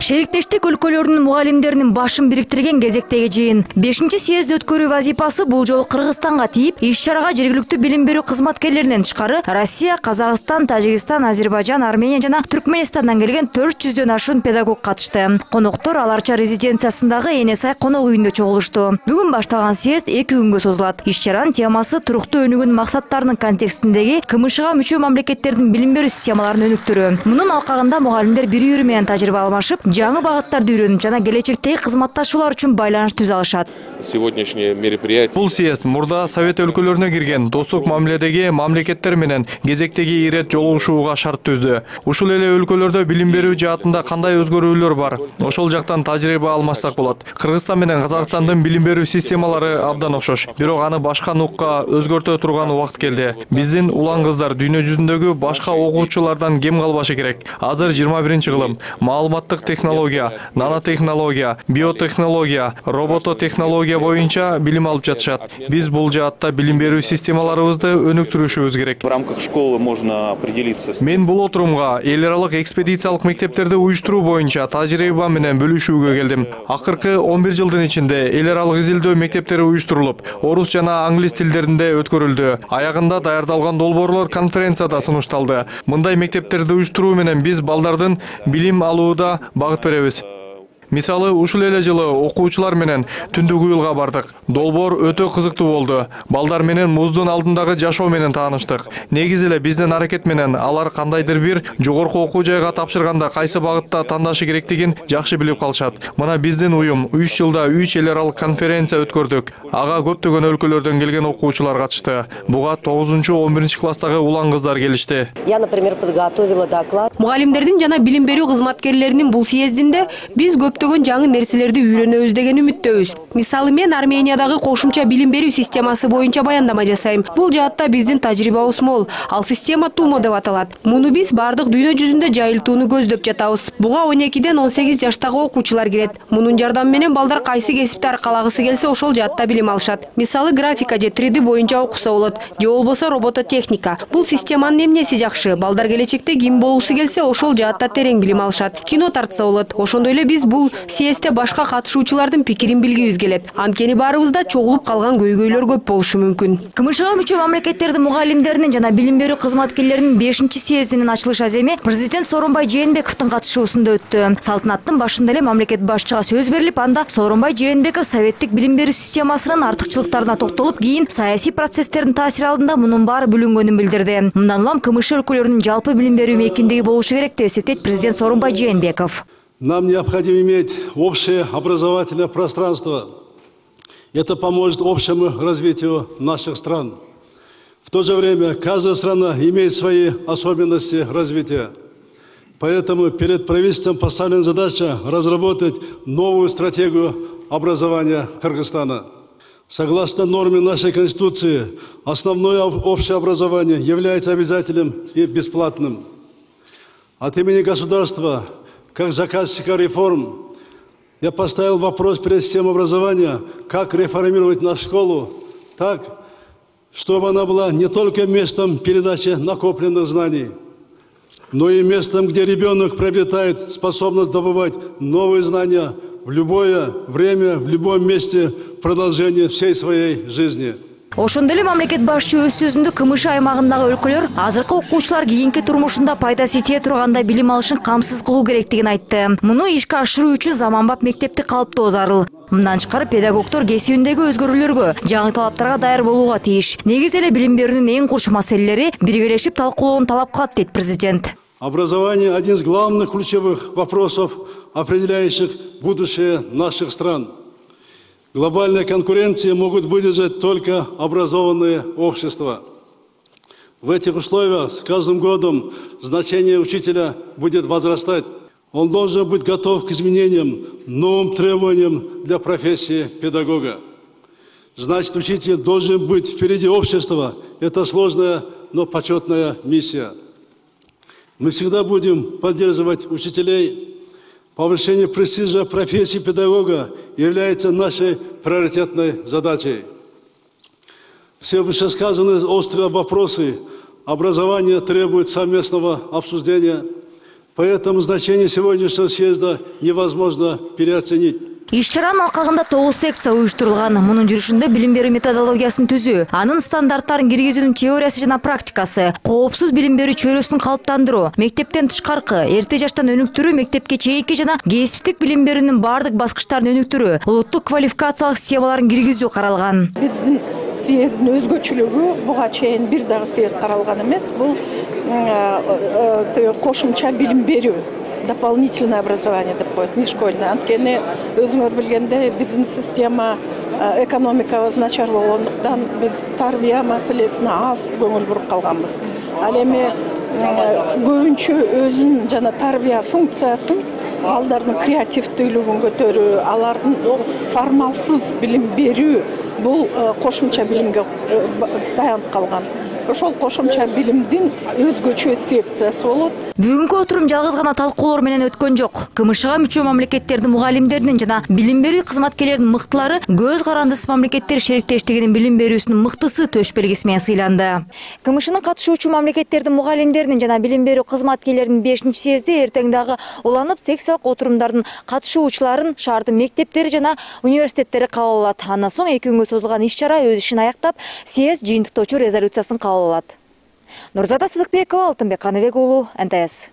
Шериктештик өлкөлөрүнүн мугалимдеринин башын бириктирген кезектеги жыйын 5-съезд өткөрүү вазифасы бул жолу Кыргызстанга тийип, иш-чарага жергиликтүү билим берүү кызматкерлеринен тышкары Россия, Казакстан, Тажикстан, Азербайжан, Армения жана Түркменистандан келген 400дөн ашуун педагог катышты. Коноктор Аларча резиденциясындагы Энесай конок үйүндө чогулушту. Бүгүн башталган съезд 2 күнгө созулат. Иш-чаранын темасы туруктуу өнүгүүнүн максаттарынын контекстиндеги КМШга мүчө мамлекеттердин билим берүү системаларын өнүктүрүү. Мунун алкагында мугалимдер бири-бири менен тажрыйба алмашып, жаңы багыттарды үйрөнүп жана келечектеги кызматташуулар үчүн байланыш түзө алышат. Сегодняшнее мероприятие. Бул съезд мурда Совет өлкөлөрүнө кирген достук мамиледеги мамлекеттер менен кезектеги ирет жолугушууга шарт түздү. Ушул эле өлкөлөрдө билим берүү жаатында кандай өзгөрүүлөр бар? Ошол жактан тажрыйба алмашсак болот. Кыргызстан менен Казакстандын билим берүү системалары абдан окшош. Бирок аны башка нукка өзгөртө турган убакыт келди. Биздин улан кыздар дүйнө жүзүндөгү башка окуучулардан кем калбашы керек. Азыр 21-кылым. Маалыматтык технология, нанотехнология, биотехнология, робототехнология боюнча билим алып жатышат. Биз бул жаатта билим берүү системаларыбызды өнүктүрүшүбүз керек. В рамках школы можно определиться. Мен бул отурумга эл аралык экспедициялык мектептерди уюштуруу боюнча тажрыйба менен бөлүшүүгө келдим. Акыркы 11 жылдын ичинде эл аралык изилдөө мектептери уюштурулуп, орус жана англис тилдеринде өткөрүлдү. Аягында даярдалган долбоорлор конференцияда сунушталды. Мындай мектептерди уюштуруу менен биз балдардын билим алууда багыт беребиз. Мисалы, ушул эле жылы окуучулар менен Түндүк Уюлга бардык. Долбоор өтө кызыктуу болду. Балдар менен муздун алдындагы жашоо менен тааныштык. Негизи эле биздин аракет менен алар кандайдыр бир жогорку окуу жайга тапшырганда кайсы багытта тандашы керектигин жакшы билип калышат. Мына биздин уюм 3 жылда 3 эл аралык конференция өткөрдүк. Ага көптөгөн өлкөлөрдөн келген окуучулар катышты. Буга 9-11 класстагы улан кыздар келишти. Я, например, подготовила доклад. Мугалимдердин жана билим берүү кызматкерлеринин бул съездинде биз көптөгөн жаңы нерселерди үйрөнөбүз деген үмүттөбүз. Мисалы, мен Армениядагы кошумча билим берүү системасы боюнча баяндама жасайм. Бул жаатта биздин тажрыйбабыз мол. Ал система ТУМО деп аталат. Муну биз бардык дүйнө жүзүндө жайылтууну көздөп жатабыз. Буга 12ден 18 жаштагы окуучулар кирет. Мунун жардамы менен балдар кайсы кесипти аркалагысы келсе ошол жаатта билим алышат. Мисалы, графика же 3D боюнча окуса болот, же болбосо робототехника. Бул системанын эмнеси жакшы? Балдар келечекте ким болуусу келсе ошол жаатта терең билим алышат. Кино тартса болот. Ошондой эле биз бул съездде башка катышуучулардын пикирин билгибиз келет. Анткени баарыбызда чогулуп калган көйгөйлөр көп болушу мүмкүн. КМШга мүчө мамлекеттердин мугалимдеринин жана билим берүү кызматкерлеринин 5-съездинин ачылыш аземи президент Сооронбай Жээнбековдун катышуусунда өттү. Салтанаттын башында эле мамлекет башчыга сөз берилип, анда Сооронбай Жээнбеков советтик билим берүү системасынын артыкчылыктарына токтолуп, кийин саясий процесстердин таасири алдында мунун баары бүлүнгөнүн билдирди. Мындан улам КМШ өлкөлөрүнүн жалпы билим берүү мейкиндиги болушу керек деп эсептейт президент Сооронбай Жээнбеков. Нам необходимо иметь общее образовательное пространство. Это поможет общему развитию наших стран. В то же время каждая страна имеет свои особенности развития. Поэтому перед правительством поставлена задача разработать новую стратегию образования Кыргызстана. Согласно норме нашей Конституции, основное общее образование является обязательным и бесплатным. От имени государства, как заказчика реформ, я поставил вопрос перед системой образования, как реформировать нашу школу так, чтобы она была не только местом передачи накопленных знаний, но и местом, где ребенок приобретает способность добывать новые знания в любое время, в любом месте продолжения всей своей жизни. Ошондой эле мамлекет башчы өз сөзүндө КМШ аймагындагы өлкөлөр азыркы окуучулар кийинки турмушунда пайдасы тие турганда билим алышын камсыз кылуу керектигин айтты. Муну ишке ашыруу үчүн заманбап мектепти калыптоо зарыл. Мындан тышкары педагогдор кесибиндеги өзгөрүүлөргө, жаңы талаптарга даяр болууга тийиш. Негизи эле билим берүүнүн эң курч маселелери биргелешип талкуулоону талап кылат, дейт президент. Образование – один из главных ключевых вопросов, определяющих будущее наших стран. Глобальной конкуренции могут выдержать только образованные общества. В этих условиях с каждым годом значение учителя будет возрастать. Он должен быть готов к изменениям, новым требованиям для профессии педагога. Значит, учитель должен быть впереди общества. Это сложная, но почетная миссия. Мы всегда будем поддерживать учителей. Повышение престижа профессии педагога является нашей приоритетной задачей. Все вышесказанные острые вопросы образования требуют совместного обсуждения. Поэтому значение сегодняшнего съезда невозможно переоценить. Иш-чаранын алкагында 9 секция уюштурулган. Мунун жүрүшүндө билим берүү методологиясын түзүү, анын стандарттарын киргизүүнүн теориясы жана практикасы, коопсуз билим берүү чөйрөсүн калыптандыруу, мектептен тышкаркы, эрте жаштан өнүктүрүү, мектепке чейинки жана кесиптик билим берүүнүн бардык баскычтарын өнүктүрүү, улуттук квалификациялык системаларын киргизүү каралган. Биздин съездин өзгөчөлүгү буга чейин бир дагы съезд каралган эмес. Бул кошумча билим берүү. Дополнительное образование деп коет, не школьное. Анткени өзүңөр билгендей биздин система экономикабыз начар болгондуктан биз тарбия маселесине аз көңүл буруп калганбыз. Ал эми көбүнчө өзүн жана тарбия функциясын, балдардын креативдүүлүгүн көтөрүү, алардын формалсыз билим берүү бул кошумча билимге таянып калган. Ошол кошумча билимдин өзгөчө секциясы болот. Бүгүнкү отурум жалгыз гана талкуулор менен өткөн жок. КМШга мүчө мамлекеттердин мугалимдеринин жана билим берүү кызматкерлеринин мыктылары көз карандысыз мамлекеттер шериктештигинин билим берүүсүнүн мыктысы төш белгиси менен сыйланды. КМШнын катышуучу мамлекеттердин мугалимдеринин жана билим берүү кызматкерлеринин 5-съезди эртең дагы уланып, секциялык отурумдардын катышуучуларын шаардын мектептери жана университеттери кабыл алат. Андан соң 2 күнгө созулган иш-чара өз ишин аяктап, съезд жыйынтыктоочу резолюциясын кабыл алат. Нурзада Сыдыкбекова, Алтынбек Каныбек уулу, НТС.